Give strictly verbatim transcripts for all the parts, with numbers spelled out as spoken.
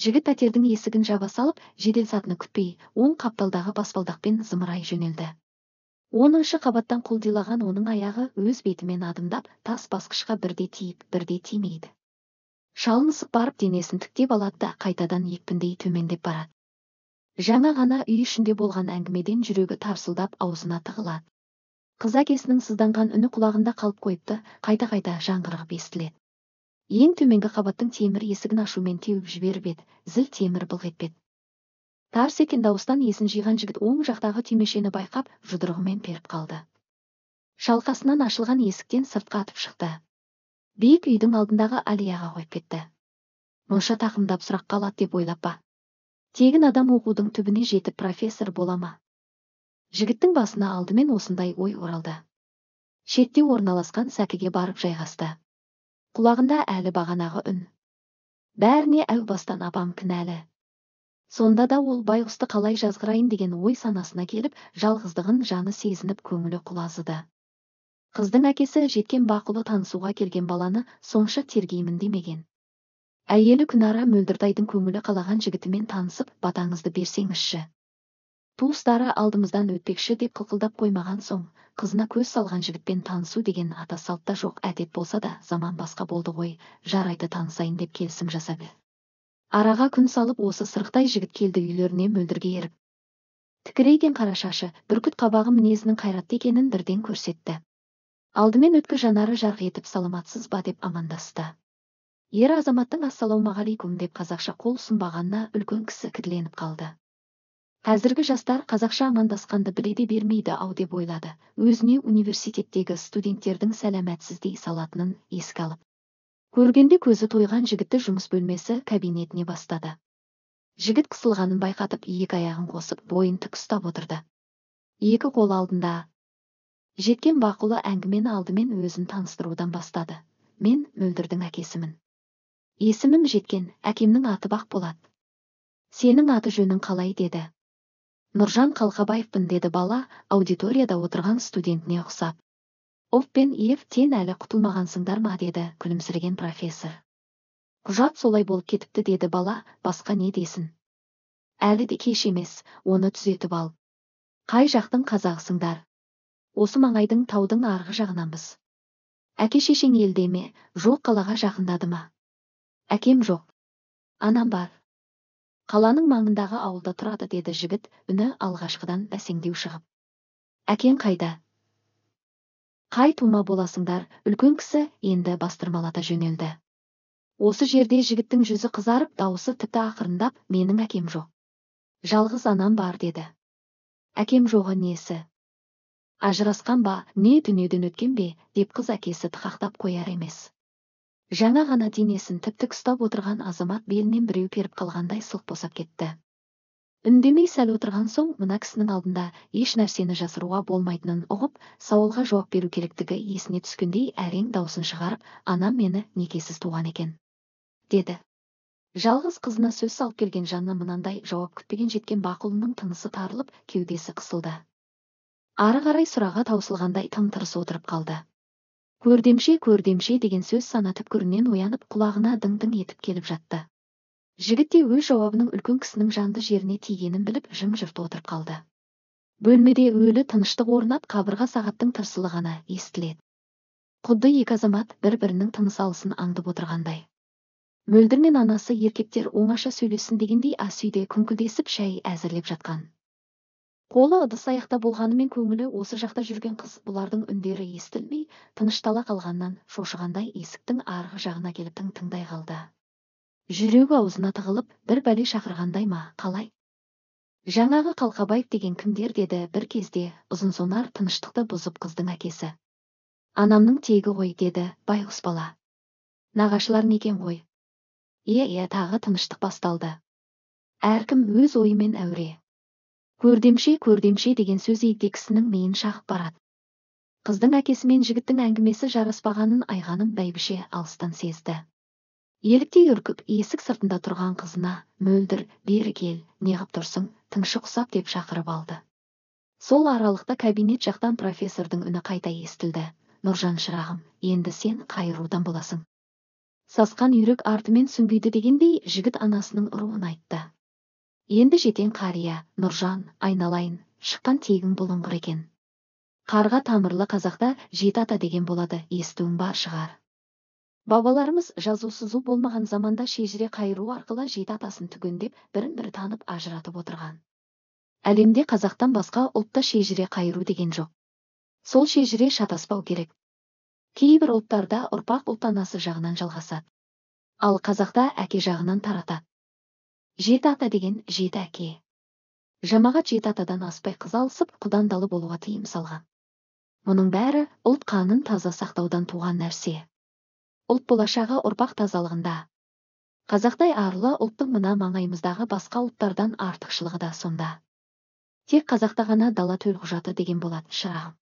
Жігіт пәтердің есігін жаба салып, жедел сатыны күтпей, оң қапталдағы баспалдақпен зымырай жөнелді. Оныншы қабаттан құлдилаған оның аяғы өз бетімен адымдап, тас басқышқа бірде тиіп, бірде тимейді. Шалынысып барып денесін тіктеп алады да қайтадан екпіндей төмендеп барады. Жаңа ғана үй ішінде болған әңгімеден жүрегі тарсылдап аузына тығылады. Қыз әкесінің сызданған үні құлағында қалып қойыпты, қайта-қайта жаңғырығып естіледі. Ең төменгі қабаттың темір есігін ашумен теуіп жіберіп еді, зіл темір былқ етпеді. Тарс еткен дауыстан есін жиған жігіт оң жақтағы түймешені байқап, жұдырығымен періп қалды. Шалқасынан ашылған есіктен сыртқа атып шықты. Биік үйдің алдындағы аллеяға қойып кетті. Мұнша тақымдап сұраққа алады деп ойлап па? Тегін адам оқудың түбіне жетіп профессор бола ма? Жігіттің басына алдымен осындай ой оралды. Шетте орналасқан сәкіге барып жайғасты. Құлағында әлі бағанағы үн. Бәріне әу бастан апам кінәлі. Сонда да ол байғұсты қалай жазғырайын деген ой санасына келіп, жалғыздығын жаны сезініп көңілі құлазыды. Қыздың әкесі жеткен бақұлы танысуға келген баланы сонша тергеймін демеген. Әйелі Күнара Мөлдіртайдың көңілі қалаған жігітімен танысып, батаңызды берсеңізші. Туыстары алдымыздан өтпекші деп қылқылдап қоймаған соң, қызына көз салған жігітпен танысу деген ата салтта жоқ әдет болса да, заман басқа болды ғой, жарайды танысайын деп келісім жасап. Араға күн салып осы сырықтай жігіт келді үйлеріне Мөлдірге еріп. Тікірейген қара шашы, бүркіт қабағы мінезінің қайратты екенін бірден көрсетті. Алдымен өткі жанары жарқ етіп саламатсыз ба деп амандасты. Ер азаматтың ассалаумағалейкум деп қазақша қол ұсынбағанына үлкен кісі кідірленіп қалды. Қазіргі жастар қазақша амандасқанды біледе бермейді ау деп ойлады, өзіне университеттегі студенттердің сәләмәтсіздей салатынын еске алып. Көргенде көзі тойған жігітті жұмыс бөлмесі кабинетіне бастады. Жігіт қысылғанын байқатып, екі аяғын қосып, бойын тік ұстап отырды. Екі қол алдында. Жеткен бақұлы әңгімені алдымен өзін таныстырудан бастады. Мен Мөлдірдің әкесімін. Есімім Жеткен, әкемнің аты Бақболат. Сенің аты жөнің қалай деді. Нұржан Қалқабаевпын деді бала, аудиторияда отырған студентіне ұқсап. Оф пен ефтен әлі құтылмағансыңдар ма деді күлімсіреген профессор. Құжат солай болып кетіпті деді бала, басқа не десін. Әлі де кеш емес, оны түзетіп ал. Қай жақтың қазағысыңдар? Осы маңайдың таудың арғы жағынанбыз. Әке шешең елде ме, жоқ қалаға жақындады ма? Әкем жоқ. Анам бар. Қаланың маңындағы ауылда тұрады деді жігіт, үні алғашқыдан бәсеңдеу шығып. Әкең қайда? Қай тума боласыңдар, үлкен кісі енді бастырмалата жөнелді. Осы жерде жігіттің жүзі қызарып, дауысы тіпті ақырындап, менің әкем жоқ. Жалғыз анам бар деді. Әкем жоғы несі? Ажырасқан ба, не дүниеден өткен бе, деп қыз әкесі тықақтап қояр емес. Жаңа ғана денесін тіп-тік ұстап отырған азамат белінен біреу періп қалғандай сылқ босап кетті. Үндемей сәл отырған соң, мына кісінің алдында еш нәрсені жасыруға болмайтынын ұғып, сауалға жауап беру керектігі есіне түскендей әрең даусын шығарып, анам мені некесіз туған екен, деді. Жалғыз қызына сөз салып келген жанына мынандай жауап күтпеген Жеткен бақұлының тынысы тарылып, кеудесі қысылды. Ары қарай сұраға таусылғандай тым-тырыс отырып қалды. Көрдемше, көрдемше деген сөз сана түпкірінен оянып, құлағына дың-дың етіп келіп жатты. Жігіт те өз жауабының үлкен кісінің жанды жеріне тигенін біліп, жым-жырт отырып қалды. Бөлмеде өлі тыныштық орнап, қабырға сағаттың тырсылы ғана естіледі. Құдды екі азамат бір-бірінің тыныс алысын аңдып отырғандай. Мөлдір мен анасы еркектер оңаша сөйлессін дегендей ас үйде күңкілдесіп шәй әзірлеп жатқан. Қолы ыдыс аяқта болғанымен көңілі осы жақта жүрген қыз бұлардың үндері естілмей, тыныштала қалғаннан шошығандай есіктің арғы жағына келіп тың-тыңдай қалды. Жүрегі аузына тығылып, бір бәле шақырғандай ма, қалай? Жаңағы Қалқабаев деген кімдер деді бір кезде, ұзын-сонар тыныштықты бұзып қыздың әкесі. Анамның тегі ғой деді байғұс бала. Нағашылар некен ғой? Е-е тағы тыныштық басталды. Әркім өз ойымен әуре. Көрдемше, көрдемше деген сөз егде кісінің миын шағып барады. Қыздың әкесі мен жігіттің әңгімесі жараспағанын айғаным бәйбіше алыстан сезді. Еліктей үркіп, есік сыртында тұрған қызына, Мөлдір, бері кел, неғып тұрсың, тыңшық ұсап деп шақырып алды. Сол аралықта кабинет жақтан профессордың үні қайта естілді. Нұржан шырағым, енді сен қайырудан боласың. Сасқан үйрек артымен сүңгиді дегендей жігіт анасының ұруын айтты. Енді жетен қария, Нұржан, айналайын, шыққан тегің бұлыңғыр екен. Қарға тамырлы қазақта жеті ата деген болады, естуің бар шығар. Бабаларымыз жазу сызу болмаған заманда шежіре қайыру арқылы жеті атасын түгендеп, бірін-бірі танып ажыратып отырған. Әлемде қазақтан басқа ұлтта шежіре қайыру деген жоқ. Сол шежіре шатаспау керек. Кейбір ұлттарда ұрпақ ұлт анасы жағынан жалғасады. Ал қазақта әке жағынан таратады. Жеті ата деген жеті әке. Жамағат жеті атадан аспай қыз алысып, құдандалы болуға тыйым салған. Мұның бәрі ұлт қанын таза сақтаудан туған нәрсе. Ұлт болашағы ұрпақ тазалығында. Қазақтай арлы ұлттың мына маңайымыздағы басқа ұлттардан артықшылығы да сонда. Тек қазақта ғана дала төлқұжаты деген болады, шырағым.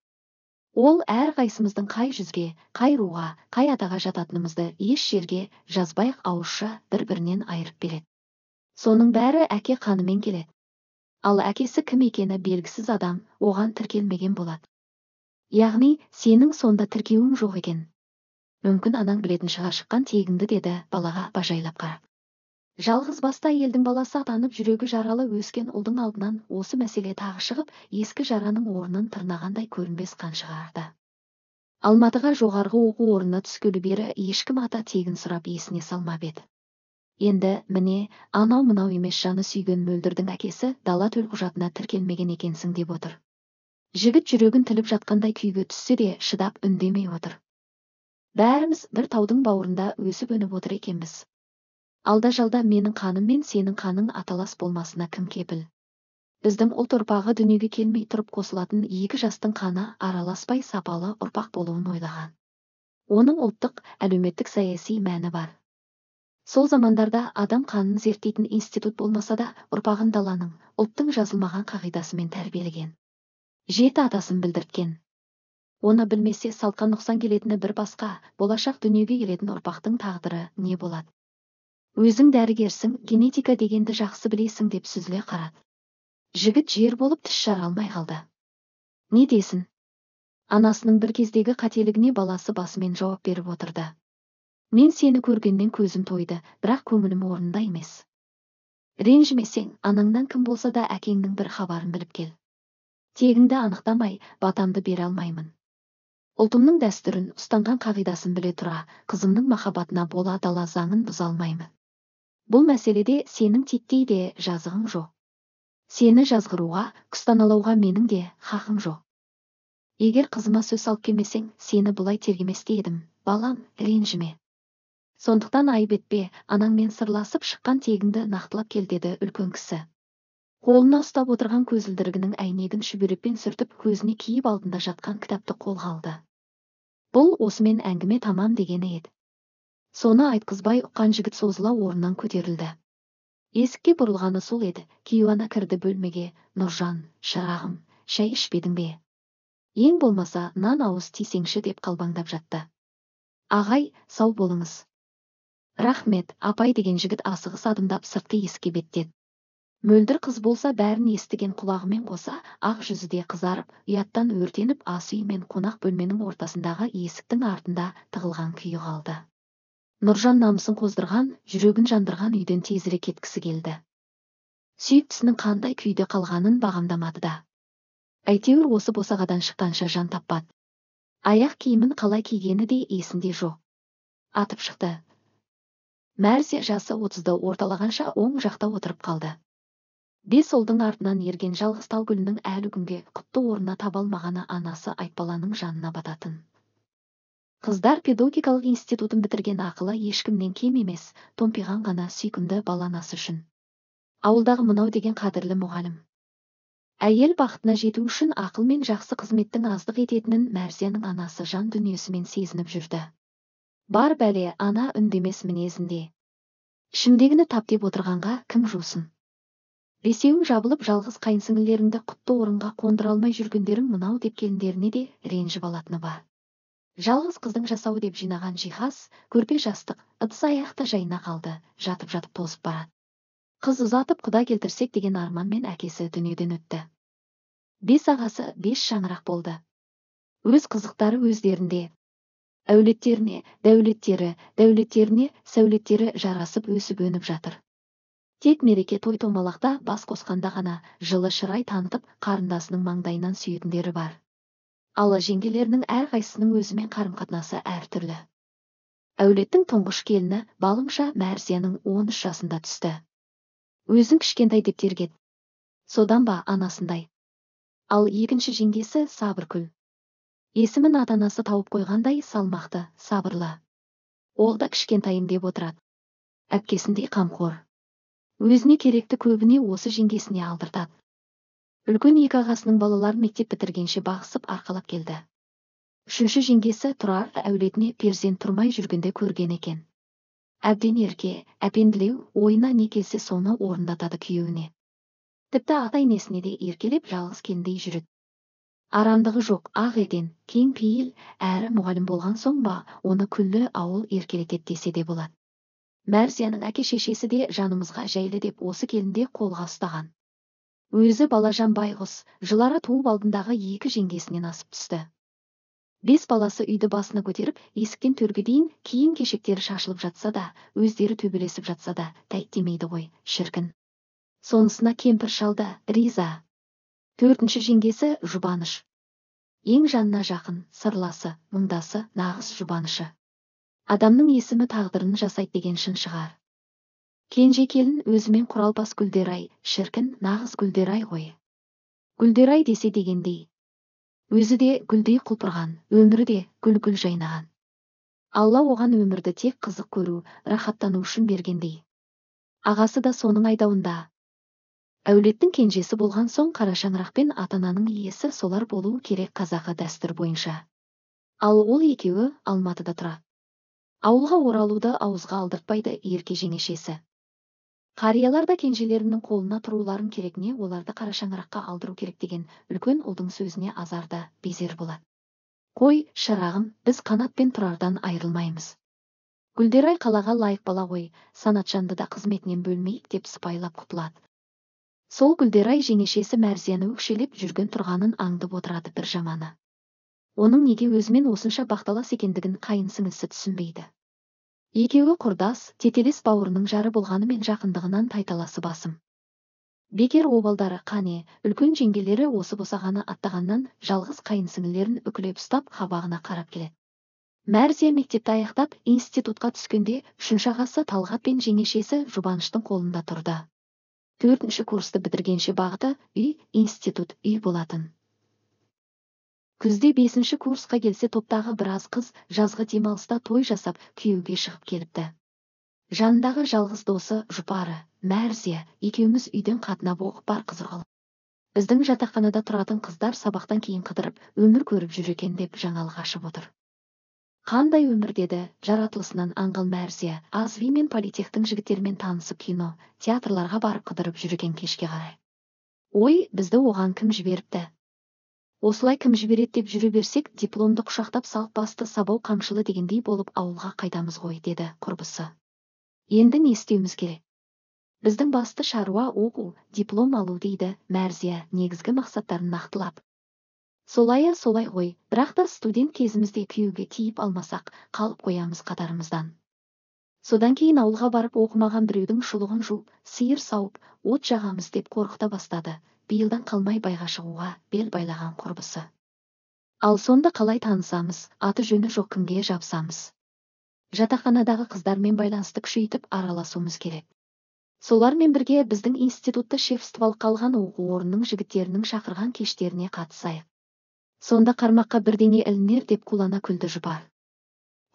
Ол әр қайсымыздың қай жүзге, қай руға, қай атаға жататынымызды еш жерге жазбайық ауызша бір-бірінен айырып береді. Соның бәрі әке қанымен келеді. Ал әкесі кім екені белгісіз адам оған тіркелмеген болады. Яғни, сенің сонда тіркеуің жоқ екен. Мүмкін анаң білетін шығар шыққан тегіңді, деді балаға бажайлап қарап. Жалғыз басты елдің баласы атанып жүрегі жаралы өскен ұлдың алдынан осы мәселе тағы шығып, ескі жараның орнын тырнағандай көрінбес қан шығарды. Алматыға жоғарғы оқу орнына түскелі бері ешкім ата тегін сұрап есіне салмап еді. Енді міне, анау мынау емес жаны сүйген мөлдірдің әкесі дала төлқұжатына тіркелмеген екенсің деп отыр. Жігіт жүрегін тіліп жатқандай күйге түссе де шыдап үндемей отыр. Бәріміз бір таудың бауырында өсіп өніп отыр екенбіз. Алда-жалда менің қаным мен сенің қаның аталас болмасына кім кепіл? Біздің ұлт ұрпағы дүниеге келмей тұрып қосылатын екі жастың қаны араласпай сапалы ұрпақ болуын ойлаған. Оның ұлттық, әлеуметтік саяси мәні бар. Сол замандарда адам қанын зерттейтін институт болмаса да, ұрпағын даланың, ұлттың жазылмаған қағидасымен тәрбиелеген. Жеті атасын білдірткен. Оны білмесе салтқа нұқсан келетіні бір басқа, болашақ дүниеге келетін ұрпақтың тағдыры не болады? Өзің дәрігерсің, генетика дегенді жақсы білесің деп сүзіле қарады. Жігіт жер болып тіс жара алмай қалды. Не десін? Анасының бір кездегі қателігіне баласы басымен жауап беріп отырды. Мен сені көргеннен көзім тойды, бірақ көңілім орнында емес. Ренжімесең, анаңнан кім болса да әкеңнің бір хабарын біліп кел. Тегіңді анықтамай, батамды бере алмаймын. Ұлтымның дәстүрін, ұстанған қағидасын біле тұра, қызымның махаббатына бола дала заңын бұза алмаймын. Бұл мәселеде сенің титтей де жазығың жоқ. Сені жазғыруға, күстаналауға менің де хақым жоқ. Егер қызыма сөз алып келмесең, сені бұлай тергеместе едім, балам, ренжіме. Сондықтан айып етпе, анаңмен сырласып шыққан тегіңді нақтылап кел, деді үлкен кісі. Қолына ұстап отырған көзілдірігінің әйнегін шүберекпен сүртіп, көзіне киіп алдында жатқан кітапты қолға алды. Бұл осымен әңгіме тамам дегені еді. Соны айтқызбай ұққан жігіт созыла орнынан көтерілді. Есікке бұрылғаны сол еді, кейуана кірді бөлмеге. Нұржан, шырағым, шай ішпедің бе? Ең болмаса, нан ауыз тисеңші деп қалбаңдап жатты. Ағай, сау болыңыз. Рахмет, апай, деген жігіт асығыс адымдап сыртқы есікке беттеді. Мөлдір қыз болса бәрін естіген құлағымен қоса, ақ жүзі де қызарып, ұяттан өртеніп ас үй мен қонақ бөлменің ортасындағы есіктің артында тығылған күйі қалды. Нұржан намысын қоздырған, жүрегін жандырған үйден тезірек кеткісі келді. Сүйіктісінің қандай күйде қалғанын бағамдамады да. Әйтеуір осы босағадан шыққанша жан таппады. Аяқ киімін қалай кигені де есінде жоқ. Атып шықты. Мәрсе жасы отызды орталағанша оң жақта отырып қалды. Бес ұлдың артынан ерген жалғыз тал гүлінің әлі күнге құтты орнына таба алмағаны анасы Айтбаланың жанына бататын. Қыздар педагогикалық институтын бітірген ақылы ешкімнен кем емес, томпиған ғана сүйкімді баланасы үшін. Ауылдағы мынау деген қадірлі мұғалім. Әйел бақытына жету үшін ақыл мен жақсы қызметтің аздық ететінін Мәрзияның анасы жан дүниесімен сезініп жүрді. Бар бәле ана үндемес мінезінде. Ішімдегіні тап деп отырғанға кім жусын? Бесеуің жабылып жалғыз қайынсіңлілеріңді құтты орынға қондыра алмай жүргендерің мынау деп келіндеріне де ренжіп алатыны бар. Жалғыз қыздың жасауы деп жинаған жиһаз, көрпе жастық, ыдыс аяқта жайына қалды, жатып-жатып тозып барады. Қыз ұзатып құда келтірсек деген арманмен әкесі дүниеден өтті. Бес ағасы бес шаңырақ болды. Өз қызықтары өздерінде. Әулеттеріне, дәулеттері, дәулеттеріне, сәулеттері жарасып өсіп өніп жатыр. Тек мереке той томалақта бас қосқанда ғана жылы шырай танытып қарындасының маңдайынан сүйетіндері бар. Ал жеңгелерінің әрқайсысының өзімен қарым-қатынасы әртүрлі. Әулеттің тұңғыш келіні балымша Мәрзияның он үш жасында түсті. Өзін кішкентай деп тергеді. Содан ба анасындай. Ал екінші жеңгесі Сабыркүл. Есімін ата-анасы тауып қойғандай салмақты, сабырлы. Ол да кішкентайым деп отырады. Әпкесіндей қамқор. Өзіне керекті көбіне осы жеңгесіне алдыртады. Үлкен екі ағасының балаларын мектеп бітіргенше бағысып арқалап келді. Үшінші жеңгесі Тұрар әулетіне перзент тұрмай жүргенде көрген екен. Әбден ерке, әпенділеу, ойына не келсе соны орындатады күйеуіне. Тіпті ата-енесіне де еркелеп жалғыз келіндей жүреді. Арамдығы жоқ, ақ еден, кең пейіл, әрі мұғалім болған соң ба, оны күллі ауыл еркелетеді десе де болады. Мәрзияның әке-шешесі де жанымызға жайлы деп осы келінде қолға ұстаған. Өзі Балажан байғұс, жылары туып алдындағы екі жеңгесінен асып түсті. Бес баласы үйді басына көтеріп, есіктен төрге дейін киім-кешектері шашылып жатса да, өздері төбелесіп жатса да, тәйт демейді ғой, шіркін. Сонысына кемпір шалды, риза. Төртінші жеңгесі Жұбаныш. Ең жанына жақын, сырласы, мұңдасы, нағыз жұбанышы. Адамның есімі тағдырын жасайды деген шын шығар. Кенже келін өзімен құралпас Гүлдерай, шіркін, нағыз Гүлдерай ғой. Гүлдерай десе дегендей. Өзі де гүлдей құлпырған, өмірі де гүл-гүл жайнаған. Алла оған өмірді тек қызық көру, рахаттану үшін бергендей. Ағасы да соның айдауында. Әулеттің кенжесі болған соң қара шаңырақпен ата-ананың иесі солар болуы керек қазақы дәстүр бойынша. Ал ол екеуі Алматыда тұрады. Ауылға оралуды ауызға алдыртпайды ерке жеңешесі. Қариялар да кенжелерінің қолына тұруларын керек не оларды қара шаңыраққа алдыру керек деген үлкен ұлдың сөзіне азарда безер болады. Қой, шырағым, біз Қанат пен Тұрардан айырылмаймыз. Гүлдерай қалаға лайық бала ғой, Санатжанды да қызметінен бөлмейік деп сыпайылап құтылады. Сол Гүлдерай жеңешесі Мәрзияны өкшелеп жүрген тұрғанын аңдып отырады бір жаманы. Оның неге өзімен осынша бақталас екендігін қайын сіңлісі түсінбейді. Екеуі құрдас, тетелес бауырының жары болғанымен жақындығынан тайталасы басым. Бекер обалдары қане, үлкен жеңгелері осы босағаны аттағаннан жалғыз қайын сіңлілерін үкілеп ұстап қабағына қарап келеді. Мәрзия мектепті аяқтап институтқа түскенде үшінші ағасы Талғат пен жеңешесі Жұбаныштың қолында тұрды. Төртінші курсты бітіргенше бағыты үй, институт, үй болатын. Күзде бесінші курсқа келсе топтағы біраз қыз жазғы демалыста той жасап күйеуге шығып келіпті. Жанындағы жалғыз досы жұпары, Мәрзия, екеуміз үйден қатынап оқып бар қызығыл. Біздің жатақханада тұратын қыздар сабақтан кейін қыдырып, өмір көріп жүр екен деп жаңалық ашып отыр. Қандай өмір деді, жаратылысынан аңғыл Мәрзия, Азви мен политехтің жігіттерімен танысып кино, театрларға барып қыдырып жүр екен кешке қарай. Ой, бізді оған кім жіберіпті? Осылай кім жібереді деп жүре берсек, дипломды құшақтап салып басты сабау қамшылы дегендей болып ауылға қайтамыз ғой, деді құрбысы. Енді не істеуіміз керек? Біздің басты шаруа оқу, диплом алу дейді Мәрзия, негізгі мақсаттарын нақтылап. Солая солай ғой, бірақ та студент кезімізде күйеуге тиіп алмасақ, қалып қоямыз қатарымыздан. Содан кейін ауылға барып оқымаған біреудің шұлығын жуып, сиыр сауып, от жағамыз деп қорқыта бастады. Биылдан қалмай байға шығуға бел байлаған құрбысы. Ал сонда қалай танысамыз, аты жөні жоқ кімге жабысамыз? Жатақханадағы қыздармен байланысты күшейтіп араласуымыз керек. Солармен бірге біздің институтты шефстволыққа алған оқу орнының жігіттерінің шақырған кештеріне қатысайық. Сонда қармаққа бірдеңе ілінер деп қулана күлді жұпар.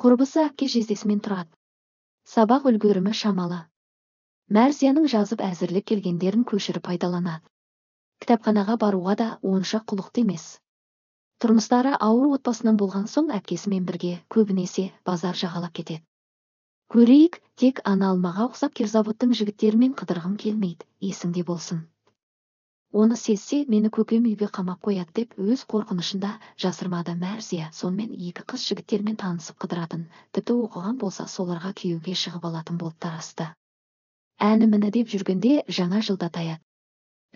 Құрбысы әпке жездесімен тұрады. Сабақ үлгерімі шамалы. Мәрзияның жазып әзірлеп келгендерін көшіріп пайдаланады. Кітапханаға баруға да онша құлықты емес. Тұрмыстары ауыр отбасынан болған соң әпкесімен бірге көбінесе базар жағалап кетеді. Көрейік, тек ана алмаға ұқсап Керзаводтың жігіттерімен қыдырғым келмейді, есіңде болсын. Оны сезсе, мені көкем үйге қамап қояды деп өз қорқынышында жасырмады Мәрзия. Сонымен екі қыз жігіттермен танысып қыдыратын, тіпті оқыған болса соларға күйеуге шығып алатын болып тарасты. Әні-міні деп жүргенде жаңа жылда таяды.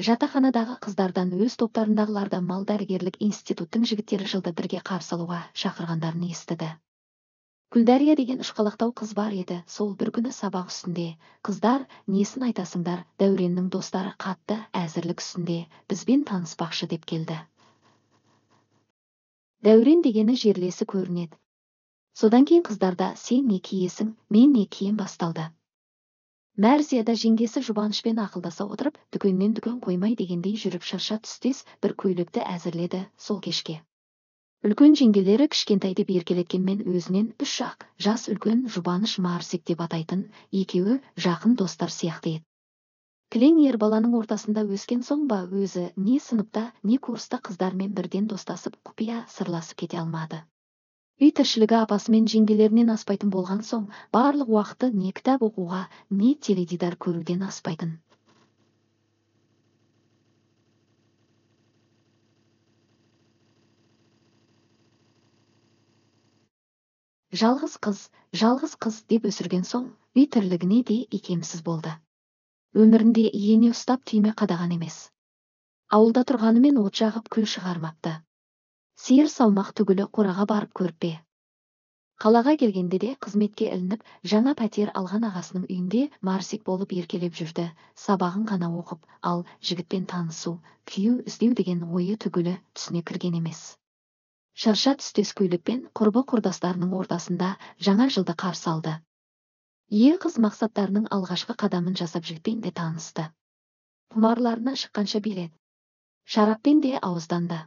Жатақханадағы қыздардан өз топтарындағыларда мал дәрігерлік институттың жігіттері жылды бірге қарсы алуға шақырғандарын естіді. Күлдәрия деген ұшқалақтау қыз бар еді. Сол бір күні сабақ үстінде: «Қыздар, несін айтасыңдар? Дәуреннің достары қатты әзірлік үстінде, бізбен таныспақшы» деп келді. Дәурен дегені жерлесі көрінеді. Содан кейін қыздарда «Сен не киесің, мен не кием» басталды. Мәрзия да жеңгесі Жұбанышпен ақылдаса отырып, дүкеннен дүкен қоймай дегендей жүріп шырша түстес бір көйлекті әзірледі сол кешке. Үлкен жеңгелері кішкентай деп еркелеткенмен өзінен үш ақ жас үлкен Жұбаныш Марсик деп атайтын, екеуі жақын достар сияқты еді. Кілең ер баланың ортасында өскен соң ба өзі не сыныпта, не курста қыздармен бірден достасып, құпия сырласып кете алмады. Үй тіршілігі апасымен жеңгелерінен аспайтын болған соң, барлық уақыты не кітап оқуға, не теледидар көруден аспайтын. Жалғыз қыз, жалғыз қыз деп өсірген соң, үй тірлігіне де икемсіз болды. Өмірінде иене ұстап түйме қадаған емес. Ауылда тұрғанымен от жағып күл шығармапты. Сиыр салмақ түгілі қораға барып көрпе. Қалаға келгенде де қызметке ілініп, жаңа пәтер алған ағасының үйінде Марсик болып еркелеп жүрді. Сабағын ғана оқып, ал жігітпен танысу, күйеу іздеу деген ойы түгілі түсіне кірген емес. Шырша түстес көйлекпен құрбы құрдастарының ортасында жаңа жылды қарсы алды. Е қыз мақсаттарының алғашқы қадамын жасап жігітпен де танысты. Құмарларына шыққанша биледі. Шараппен де ауызданды.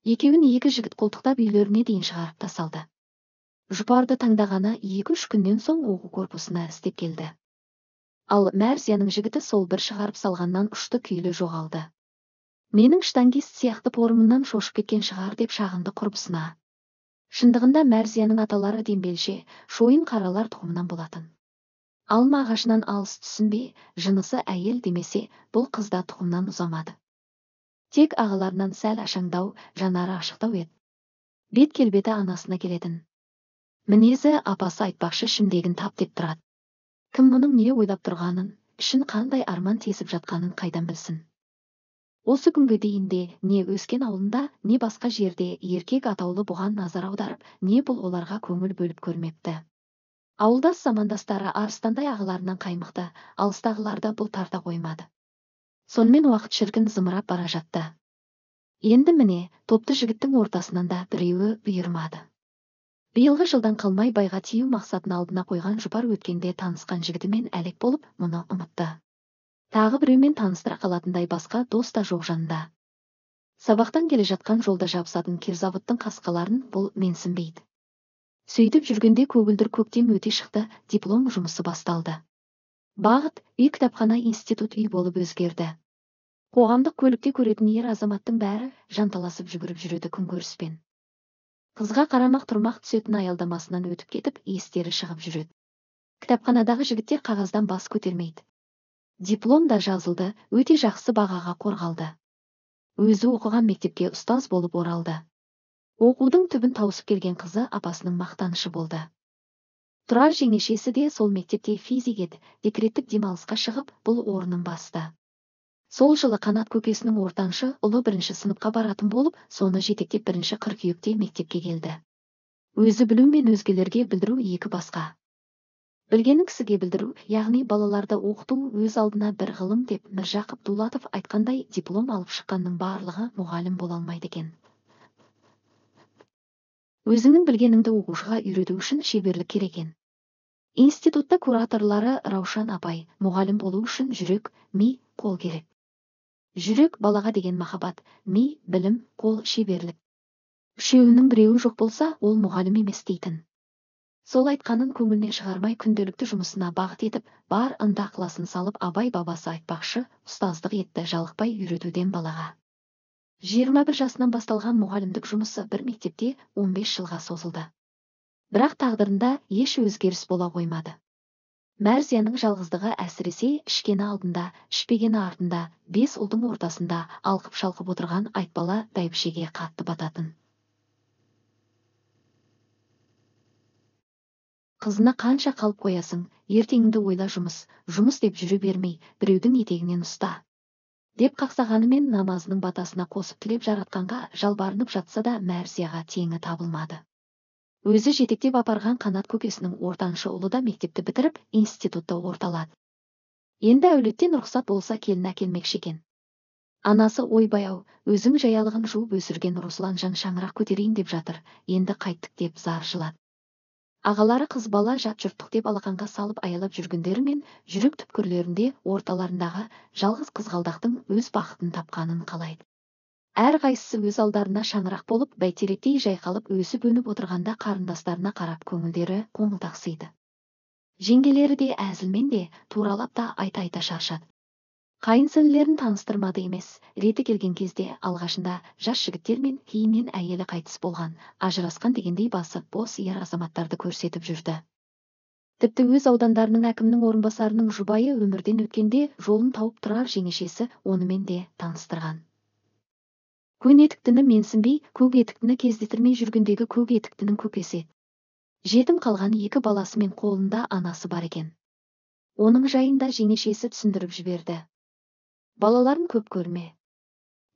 Екеуін екі жігіт қолтықтап үйлеріне дейін шығарып тасалды. Жұпарды таңдағаны екі-үш күннен соң оқу корпусына істеп келді. Ал Мәрзияның жігіті сол бір шығарып салғаннан ұшты күйлі жоғалды. Менің штангист сияқты порымымнан шошып кеткен шығар деп шағынды құрбысына. Шындығында Мәрзияның аталары дембелше, шойын қаралар тұқымынан болатын. Алма ағашынан алыс түсінбе, жынысы әйел демесе, бұл қызда тұқымнан ұзамады. Тек ағаларынан сәл ашаңдау, жанары ашықтау еді. Бет келбеті анасына келетін. Мінезі апасы айтпақшы шімдегін тап деп тұрады. Кім мұның не ойлап тұрғанын, ішін қандай арман тесіп жатқанын қайдан білсін. Осы күнге дейінде не өскен ауылында, не басқа жерде еркек атаулы бұған назар аударып, не бұл оларға көңіл бөліп көрмепті. Ауылдас замандастары арыстандай ағаларынан қаймықты, алыстағыларда бұл тарта қоймады. Сонымен уақыт шіркін зымырап бара жатты. Енді міне, топты жігіттің ортасынан да біреуі бұйырмады. Биылғы жылдан қалмай байға тию мақсатын алдына қойған Жұпар өткенде танысқан жігітімен әлек болып, мұны ұмытты. Тағы біреумен таныстыра қалатындай басқа дос та жоқ жанында. Сабақтан келе жатқан жолда жабысатын кирзаводтың қасқаларын бұл менсінбейді. Сөйтіп жүргенде көгілдір көктем өте шықты, диплом жұмысы басталды. Бағыт үй кітапхана институт үй болып өзгерді. Қоғамдық көлікте көретін ер азаматтың бәрі жанталасып жүгіріп жүреді күнкөріспен. Қызға қарамақ тұрмақ түсетін аялдамасынан өтіп кетіп, естері шығып жүреді. Кітапханадағы жігіттер қағаздан бас көтермейді. Диплом да жазылды, өте жақсы бағаға қорғалды. Өзі оқыған мектепке ұстаз болып оралды. Оқудың түбін тауысып келген қызы апасының мақтанышы болды. Тұрар жеңешесі де сол мектепте физик еді, декреттік демалысқа шығып, бұл орнын басты. Сол жылы Қанат көкесінің ортаншы ұлы бірінші сыныпқа баратын болып, соны жетектеп бірінші қыркүйекте мектепке келді. Өзі білу мен өзгелерге білдіру екі басқа. Білгенін кісіге білдіру, яғни балаларды оқыту өз алдына бір ғылым деп Міржақып Дулатов айтқандай, диплом алып шыққанның барлығы мұғалім бола алмайды екен. Өзіңнің білгеніңді оқушыға үйрету үшін шеберлік керек екен. Институтта кураторлары Раушан апай, мұғалім болу үшін жүрек, ми, қол керек. Жүрек балаға деген махаббат, ми, білім, қол, шеберлік. Үшеуінің біреуі жоқ болса, ол мұғалім емес дейтін. Сол айтқанын көңіліне шығармай күнделікті жұмысына бағыт етіп, бар ынта ықыласын салып, абай бабасы айтпақшы, ұстаздық етті, жалықпай үйретуден балаға. жиырма бір жасынан басталған мұғалімдік жұмысы бір мектепте он бес жылға созылды. Бірақ тағдырында еш өзгеріс бола қоймады. Мәрзияның жалғыздығы әсіресе ішкені алдында, ішпегені артында, бес ұлдың ортасында алқып-шалқып отырған айтбала бәйбішеге қатты бататын. Қызына қанша қалып қоясың, ертеңіңді ойла жұмыс, жұмыс деп жүре бермей, біреудің етегінен ұста. Деп қақсағанымен намазының батасына қосып тілеп жаратқанға жалбарынып жатса да Мәрзияға теңі табылмады. Өзі жетектеп апарған Қанат көкесінің ортаншы ұлы да мектепті бітіріп, институтта орталады. Енді әулеттен рұқсат болса келін әкелмекші екен. Анасы ойбай-ау, өзің жаялығын жуып өсірген Русланжан шаңырақ көтерейін деп жатыр, енді қайттық деп зар жылады. Ағалары қыз бала жат жұрттық деп алақанға салып аялап жүргендері мен жүрек түпкірлерінде орталарындағы жалғыз қызғалдақтың өз бақытын тапқанын қалайды. Әр қайсысы өз алдарына шаңырақ болып, бәйтеректей жайқалып өсіп өніп отырғанда қарындастарына қарап көңілдері қоңылтақсиды. Жеңгелері де әзілмен де туралап та айта-айта шаршады. Қайынсіңлілерін таныстырмады емес, реті келген кезде алғашында жас жігіттер мен кейіннен әйелі қайтыс болған, ажырасқан дегендей басы бос ер азаматтарды көрсетіп жүрді. Тіпті өз аудандарының әкімнің орынбасарының жұбайы өмірден өткенде жолын тауып тұрар жеңешесі онымен де таныстырған. Көне етіктіні менсінбей, көк етіктіні кездестірмей жүргендегі көк етіктінің көкесі. Жетім қалған екі баласы мен қолында анасы бар екен. Оның жайында жеңешесі түсіндіріп жіберді. Балаларын көп көрме.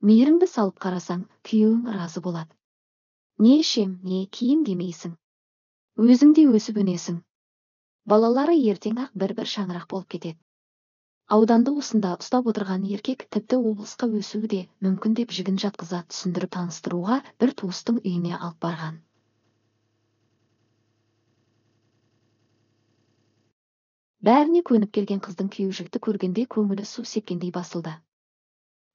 Мейіріңді салып қарасаң, күйеуің разы болады. Не ішем, не киім демейсің. Өзің де өсіп өнесің. Балалары ертең-ақ бір-бір шаңырақ болып кетеді. Ауданды осында ұстап отырған еркек тіпті облысқа өсуі де мүмкін деп жігін жатқыза түсіндіріп таныстыруға бір туыстың үйіне алып барған. Бәріне көніп келген қыздың күйеу жігітті көргенде көңілі су сепкендей басылды.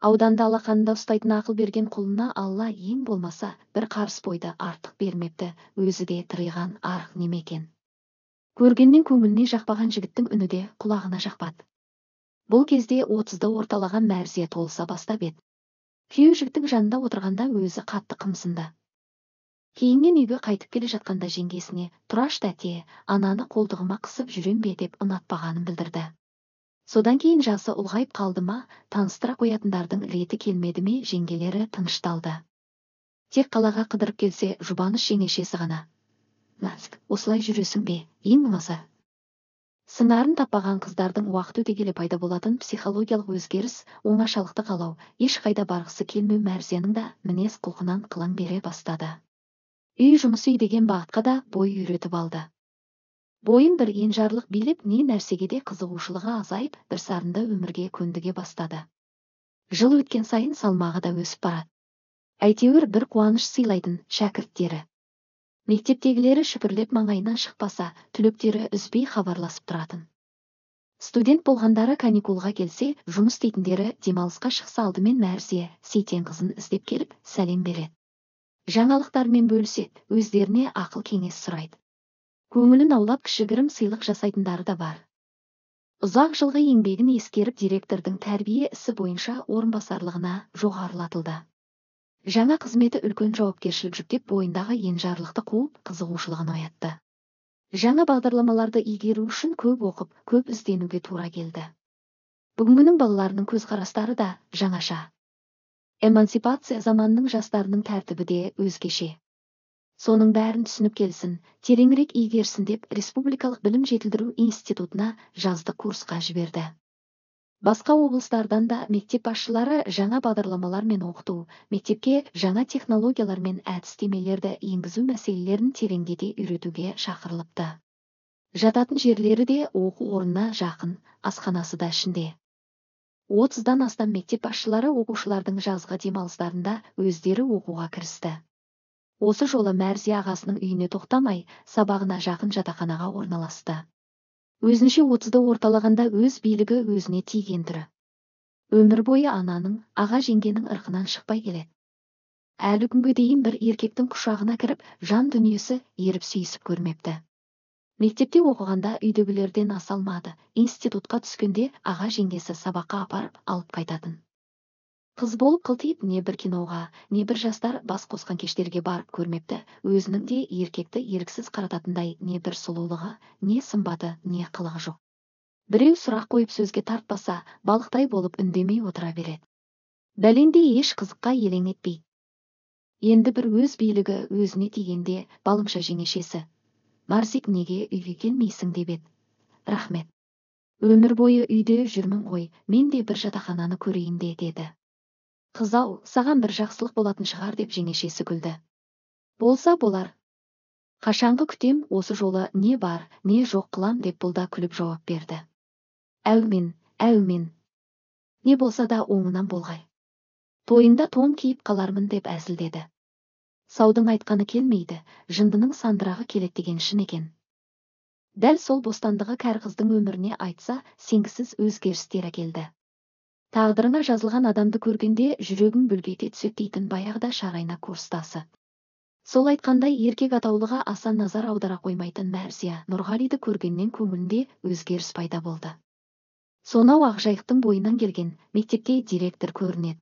Ауданда алақанында ұстайтын ақыл берген құлына Алла ең болмаса бір қарыс бойды артық бермепті, өзі де тыриған арық немекен. Көргеннен көңіліне жақпаған жігіттің үні де құлағына жақпады. Бұл кезде отызды орталаған Мәрзия толыса бастап еді. Күйеу жігіттің жанында отырғанда өзі қатты қымсынды. Кейіннен үйге қайтып келе жатқанда жеңгесіне, тұраш тәте, ананы қолтығыма қысып жүрем бе деп ұнатпағанын білдірді. Содан кейін жасы ұлғайып қалды ма, таныстыра қоятындардың реті келмеді ме, жеңгелері тынышталды. Тек қалаға қыдырып келсе, жұбаныш жеңешесі ғана. Нәзік, осылай жүресің бе, ең болмаса. Сыңарын таппаған қыздардың уақыт өте келе пайда болатын психологиялық өзгеріс, оңашалықты қалау, ешқайда барғысы келмеу Мәрзияның да мінез құлқынан қылаң бере бастады. Үй жұмысы үй деген бағытқа да бой үйретіп алды. Бойын бір енжарлық билеп, не нәрсеге де қызығушылығы азайып, бір сарында өмірге көндіге бастады. Жыл өткен сайын салмағы да өсіп барады. Әйтеуір бір қуаныш сыйлайтын шәкірттері. Мектептегілері шүпірлеп маңайынан шықпаса, түлектері үзбей хабарласып тұратын. Студент болғандары каникулға келсе, жұмыс істейтіндері демалысқа шықса алдымен Мәрзия Сейтен қызын іздеп келіп, сәлем береді. Жаңалықтармен бөліседі, өздеріне ақыл кеңес сұрайды. Көңілін аулап кішігірім сыйлық жасайтындары да бар. Ұзақ жылғы еңбегін ескеріп директордың тәрбие ісі бойынша орынбасарлығына жоғарылатылды. Жаңа қызметі үлкен жауапкершілік жүктеп, бойындағы енжарлықты қуып, қызығушылығын оятты. Жаңа бағдарламаларды игеру үшін көп оқып, көп ізденуге тура келді. Бүгінгінің балаларының көзқарастары да жаңаша. Эмансипация заманының жастарының тәртібі де өзгеше. Соның бәрін түсініп келсін, тереңірек игерсін деп Республикалық білім жетілдіру институтына жаздық курсқа жіберді. Басқа облыстардан да мектеп басшылары жаңа бағдарламалар мен оқыту, мектепке жаңа технологиялар мен әдістемелерді енгізу мәселелерін тереңдете үйретуге шақырылыпты. Жататын жерлері де оқу орнына жақын, асханасы да ішінде. отыздан астам мектеп басшылары оқушылардың жазғы демалыстарында өздері оқуға кірісті. Осы жолы Мәрзия ағасының үйіне тоқтамай, сабағына жақын жатақханаға орналасты. Өзінше отызды орталағанда өз билігі өзіне тиген түрі. Өмір бойы ананың, аға жеңгенің ырқынан шықпай келеді. Әлі күнге дейін бір еркектің құшағына кіріп, жан дүниесі еріп сүйісіп көрмепті. Мектепте оқығанда үйдегілерден аса алмады, институтқа түскенде аға жеңгесі сабаққа апарып алып қайтатын. Қыз болып қылтиып, не бір киноға, не бір жастар бас қосқан кештерге барып көрмепті, өзінің де еркекті еріксіз қарататындай не бір сұлулығы, не сымбаты, не қылығы жоқ. Біреу сұрақ қойып сөзге тартпаса, балықтай болып үндемей отыра береді. Бәлендей еш қызыққа елең етпейді. Енді бір өз билігі өзіне тигенде балымша жеңешесі: Марсик, неге үйге келмейсің деп еді. Рахмет. Өмір бойы үйде жүрмін ғой, мен де бір жатақхананы көрейін де, деді. Қыз-ау, саған бір жақсылық болатын шығар деп жеңешесі күлді. Болса болар. Қашанғы күтем, осы жолы не бар, не жоқ қылам деп бұл да күліп жауап берді. Әумен, әумен. Не болса да оңынан болғай. Тойында тон киіп қалармын деп әзілдеді. Саудың айтқаны келмейді, жындының сандырағы келет деген шын екен. Дәл сол бостандығы кәрі қыздың өміріне айтса, сенгісіз өзгерістер әкелді. Тағдырына жазылған адамды көргенде жүрегің бүлгете түсет дейтін баяғыда шарайна курстасы. Сол айтқандай еркек атаулыға аса назар аудара қоймайтын Мәрзия Нұрғалиді көргеннен көңілінде өзгеріс пайда болды. Сонау Ақжайықтың бойынан келген мектепте директор көрінеді.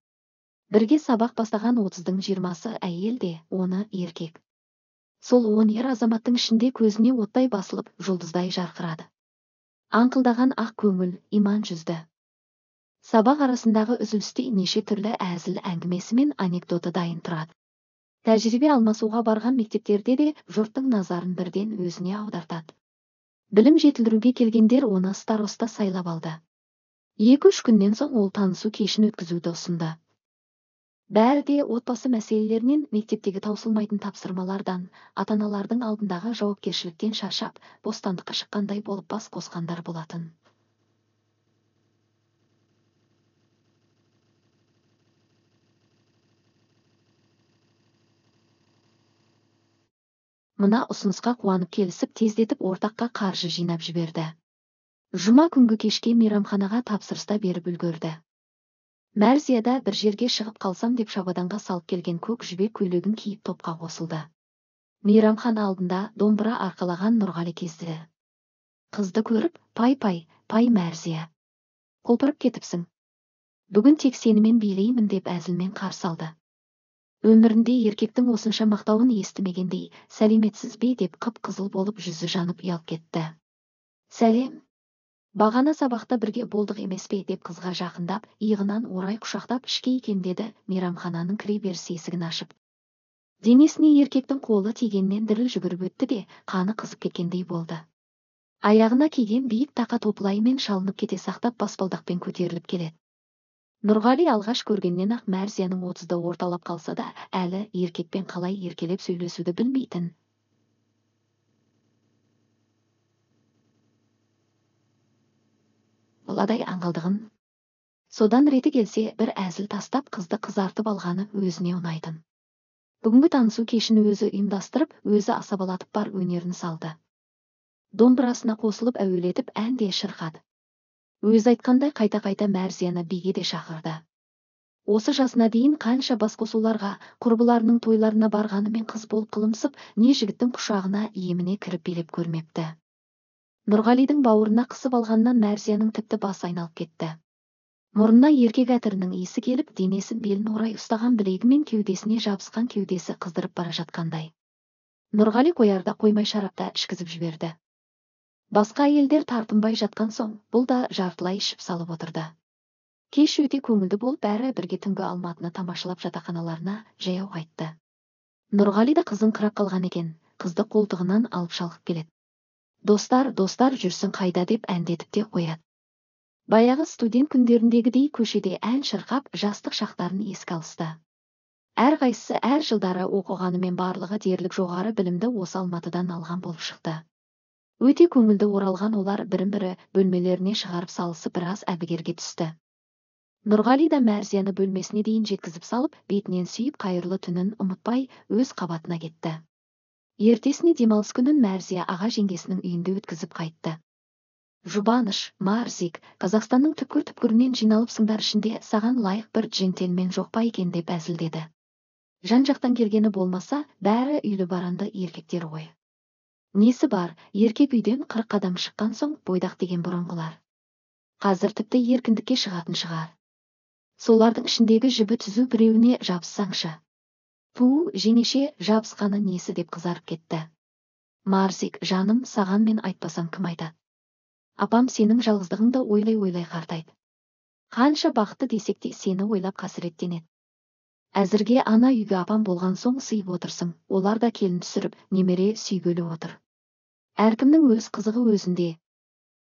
Бірге сабақ бастаған отыздың жиырмасы әйел де, оны еркек. Сол он ер азаматтың ішінде көзіне оттай басылып, жұлдыздай жарқырады. Аңқылдаған ақ көңіл, иман жүзді. Сабақ арасындағы үзілісте неше түрлі әзіл әңгімесі мен анекдоты дайын тұрады. Тәжірибе алмасуға барған мектептерде де жұрттың назарын бірден өзіне аудартады. Білім жетілдіруге келгендер оны староста сайлап алды. Екі-үш күннен соң ол танысу кешін өткізуді ұсынды. Бәрі де отбасы мәселелерінен, мектептегі таусылмайтын тапсырмалардан, ата-аналардың алдындағы жауапкершіліктен шаршап, бостандыққа шыққандай болып бас қосқандар болатын. Мына ұсынысқа қуанып келісіп, тездетіп ортаққа қаржы жинап жіберді. Жұма күнгі кешке мейрамханаға тапсырыста беріп үлгерді. Мәрзияда бір жерге шығып қалсам деп шабаданға салып келген көк жібек көйлегін киіп топқа қосылды. Мейрамхана алдында домбыра арқалаған Нұрғали кезді. Қызды көріп, пай-пай, пай Мәрзия. Құлпырып кетіпсің. Бүгін тек сенімен билеймін деп әзілмен қарсы алды. Өмірінде еркектің осынша мақтауын естімегендей, сәлеметсіз бе деп қып-қызыл болып жүзі жанып ұялып кетті. Сәлем. Бағана сабақта бірге болдық емес пе деп қызға жақындап, иығынан орай құшақтап ішке икемдеді, мейрамхананың кіре беріс есігін ашып. Денесіне еркектің қолы тигеннен діріл жүгіріп өтті де, қаны қызып кеткендей болды. Аяғына киген биік тақа топылаймен шалынып кете сақтап баспалдақпен көтеріліп келеді. Нұрғали алғаш көргеннен ақ Мәрзияның отызды орталап қалса да, әлі еркекпен қалай еркелеп сөйлесуді білмейтін. Баладай аңғалдығын. Содан реті келсе, бір әзіл тастап қызды қызартып алғаны өзіне ұнайтын. Бүгінгі танысу кешін өзі ұйымдастырып, өзі асабалатып бар өнерін салды. Домбырасына қосылып әуелетіп әнде шырқады. Өз айтқандай қайта-қайта Мәрзияны биге де шақырды. Осы жасына дейін қанша басқосуларға, құрбыларының тойларына барғанымен қыз болып қылымсып, не жігіттің құшағына еміне кіріп билеп көрмепті. Нұрғалидың бауырына қысып алғаннан Мәрзияның тіпті басы айналып кетті. Мұрнына еркек әтірінің иісі келіп, денесін белін орай ұстаған білегі мен кеудесіне жабысқан кеудесі қыздырып бара жатқандай. Нұрғали қоярда қоймай шарапта ішкізіп жіберді. Басқа әйелдер тартынбай жатқан соң, бұл да жартылай ішіп салып отырды. Кеш өте көңілді болып, бәрі бірге түнгі Алматыны тамашалап жатақханаларына жаяу қайтты. Нұрғали да қызын қырап қалған екен, қызды қолтығынан алып шалқып келеді. Достар, достар жүрсін қайда деп әндетіп те қояды. Баяғы студент күндеріндегідей көшеде ән шырқап, жастық шақтарын еске алысты. Әр қайсысы әр жылдары оқығанымен барлығы дерлік жоғары білімді осы Алматыдан алған болып шықты. Өте көңілді оралған олар бірін-бірі бөлмелеріне шығарып салысы біраз әбігерге түсті. Нұрғали да Мәрзияны бөлмесіне дейін жеткізіп салып, бетінен сүйіп қайырлы түнін ұмытпай өз қабатына кетті. Ертесіне демалыс күнін Мәрзия аға жеңгесінің үйінде өткізіп қайтты. Жұбаныш, Марзик, Қазақстанның түкпір-түкпірінен жиналыпсыңдар, ішінде саған лайық бір джентльмен жоқ па екен деп әзілдеді. Жан-жақтан келгені болмаса, бәрі үйлі баранды еркектер ғой. Несі бар, еркек үйден қырық қадам шыққан соң бойдақ деген бұрынғылар. Қазір тіпті еркіндікке шығатын шығар. Солардың ішіндегі жібі түзу біреуіне жабыссаңшы. Ту, жеңеше, жабысқаны несі деп қызарып кетті. Марзик, жаным, саған мен айтпасам кім айтады? Апам сенің жалғыздығыңды ойлай-ойлай қартайды. Қанша бақытты десек те сені ойлап қасіреттенеді. Әзірге ана үйге апам болған соң сыйып отырсың, олар да келін түсіріп, немере сүйгелі отыр. Әркімнің өз қызығы өзінде.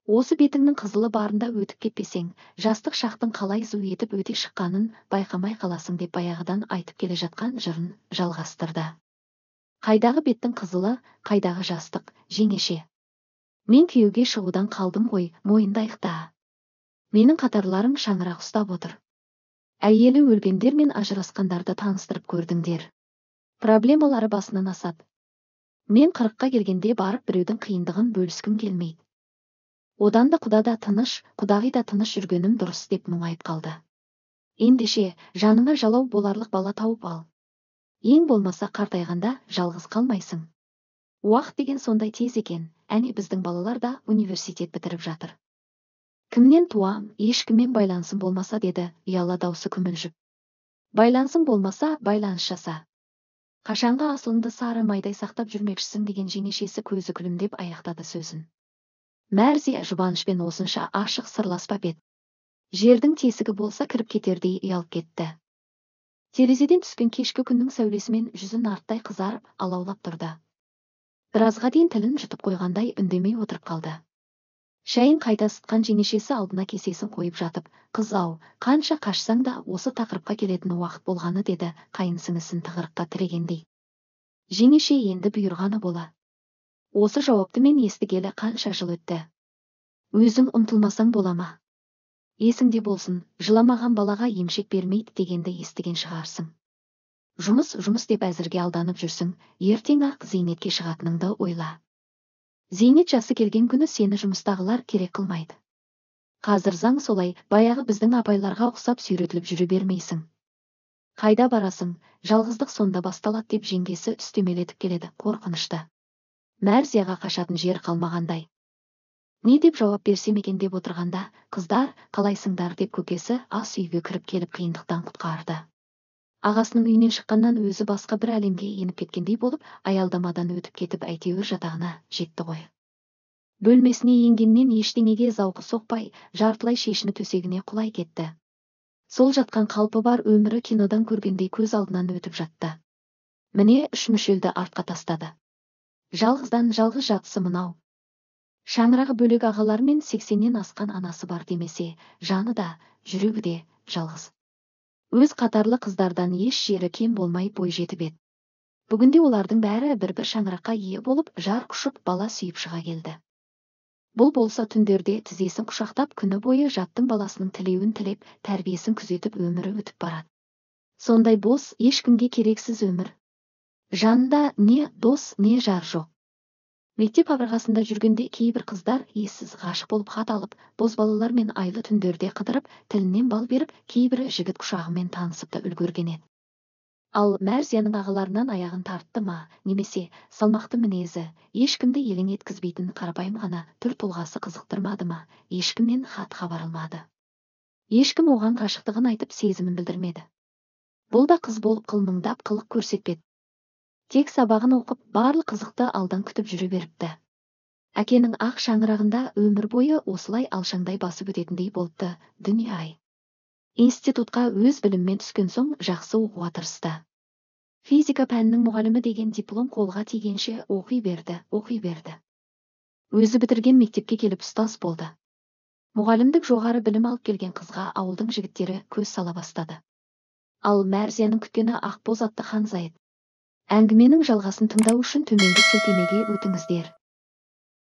Осы бетіңнің қызылы барында өтіп кетпесең, жастық шақтың қалай зу етіп өте шыққанын байқамай қаласың деп баяғыдан айтып келе жатқан жырын жалғастырды. Қайдағы беттің қызылы, қайдағы жастық, жеңеше. Мен күйеуге шығудан қалдым ғой, мойындайық та. Менің қатарларым шаңырақ ұстап отыр. Әйелі өлгендер мен ажырасқандарды таныстырып көрдіңдер. Проблемалары басынан асады. Мен қырыққа келгенде барып біреудің қиындығын бөліскім келмейді. Одан да құда да тыныш, құдағи да тыныш жүргенім дұрыс деп мұңайып қалды. Ендеше, жаныңа жалау боларлық бала тауып ал. Ең болмаса қартайғанда жалғыз қалмайсың. Уақыт деген сондай тез екен, әне біздің балалар да университет бітіріп жатыр. Кімнен туам, ешкіммен байланысым болмаса деді, ұяла даусы күмілжіп. Байланысың болмаса, байланыс жаса. Қашанға асылыңды сары майдай сақтап жүрмекшісің деген жеңешесі көзі күлімдеп аяқтады сөзін. Мәрзия жұбанышпен осынша ашық сырласпап еді. Жердің тесігі болса кіріп кетердей ұялып кетті. Терезеден түскен кешкі күннің сәулесімен жүзін арттай қызарып, алаулап тұрды. Біразға дейін тілін жұтып қойғандай үндемей отырып қалды. Шайын қайта ысытқан жеңешесі алдына кесесін қойып жатып, қыз-ау, қанша қашсаң да осы тақырыпқа келетін уақыт болғаны деді, қайынсіңісін тығырыққа тірегендей. Жеңеше енді бұйырғаны бола. Осы жауапты мен естігелі қанша жыл өтті. Өзің ұмтылмасаң бола ма? Есіңде болсын, жыламаған балаға емшек бермейді дегенді естіген шығарсың. Жұмыс, жұмыс деп әзірге алданып жүрсің, ертең-ақ зейнетке шығатыныңды ойла. Зейнет жасы келген күні сені жұмыстағылар керек қылмайды. Қазір заң солай, баяғы біздің апайларға ұқсап сүйретіліп жүре бермейсің. Қайда барасың, жалғыздық сонда басталады деп жеңгесі үстемелетіп келеді, қорқынышты. Мәрзияға қашатын жер қалмағандай. Не деп жауап берсем екен деп отырғанда, қыздар, қалайсыңдар деп көкесі ас үйге кіріп келіп қиындықтан құтқарды. Ағасының үйінен шыққаннан өзі басқа бір әлемге еніп кеткендей болып, аялдамадан өтіп кетіп әйтеуір жатағына жетті ғой. Бөлмесіне енгеннен ештеңеге зауқы соқпай, жартылай шешіні төсегіне құлай кетті. Сол жатқан қалпы бар өмірі кинодан көргендей көз алдынан өтіп жатты. Міне үш мүшелді артқа тастады. Жалғыздан жалғыз жатысы мынау. Шаңырағы бөлек ағалар мен сексеннен асқан анасы бар демесе, жаны да, жүрегі де жалғыз. Өз қатарлы қыздардан еш жері кем болмай бой жетіп еді. Бүгінде олардың бәрі бір-бір шаңыраққа ие болып, жар құшып бала сүйіп шыға келді. Бұл болса түндерде тізесін құшақтап күні бойы жаттың баласының тілеуін тілеп, тәрбиесін күзетіп өмірі өтіп барады. Сондай бос, ешкімге керексіз өмір. Жанында не дос, не жар жоқ. Мектеп қабырғасында жүргенде кейбір қыздар ессіз ғашық болып хат алып, бозбалалар мен айлы түндерде қыдырып, тілінен бал беріп, кейбірі жігіт құшағымен танысып та үлгерген еді. Ал Мәрзияның ағаларынан аяғын тартты ма, немесе салмақты мінезі, ешкімді елең еткізбейтін қарапайым ғана түр тұлғасы қызықтырмады ма, ешкімнен хат хабар алмады. Ешкім оған ғашықтығын айтып сезімін білдірмеді. Бұл да қыз болып қылмыңдап қылық көрсетпеді. Тек сабағын оқып, барлық қызықты алдан күтіп жүре беріпті. Әкенің ақ шаңырағында өмір бойы осылай алшаңдай басып өтетіндей болыпты, дүние-ай. Институтқа өз біліммен түскен соң жақсы оқуға тырысты. Физика пәнінің мұғалімі деген диплом қолға тигенше оқи берді, оқи берді. Өзі бітірген мектепке келіп ұстаз болды. Мұғалімдік жоғары білім алып келген қызға ауылдың жігіттері көз сала бастады. Ал Мәрзияның күткені Ақбоз атты Ханзайд. Әңгіменің жалғасын тыңдау үшін төменгі сілтемеге өтіңіздер.